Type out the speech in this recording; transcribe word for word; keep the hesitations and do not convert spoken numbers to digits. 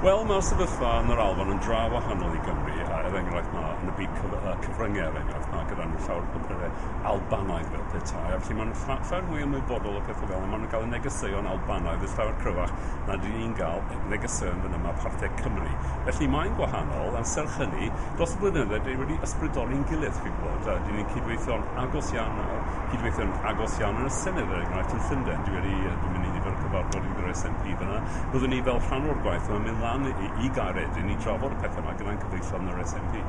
Wel, mae'r sefyllfa yn yr Alban yn dra wahanol i Gymru, a er enghraifft mae yn y byd cyf cyfryngau, er enghraifft, mae gyda nhw llawer o papurau Albanaidd fel petai, a felly maen nhw'n llawer mwy ymwybodol o pethau fel yna, maen nhw'n cael y negeseuon Albanaidd yn llawer cryfach na dyn ni'n gael negeseuon fan yma parthed Cymru. Felly mae'n gwahanol, a serch hynny, dros y blynyddoedd, dyn ni wedi ysbrydoli'n gilydd, chi'n gwybod. Dyn ni'n cydweithio'n agos iawn nawr, cydweithio'n agos iawn yn y Senedd, er enghraifft, yn Llundain. Dwi wedi, dwi'n mynd i nifer o cyfarfod gyda'r S N P fyna. Byddwn ni fel rhan o'r gwaith yma'n mynd lan i, i Gaeredin i drafod y pethau yma gyda'n cyfeillion yn yr S N P.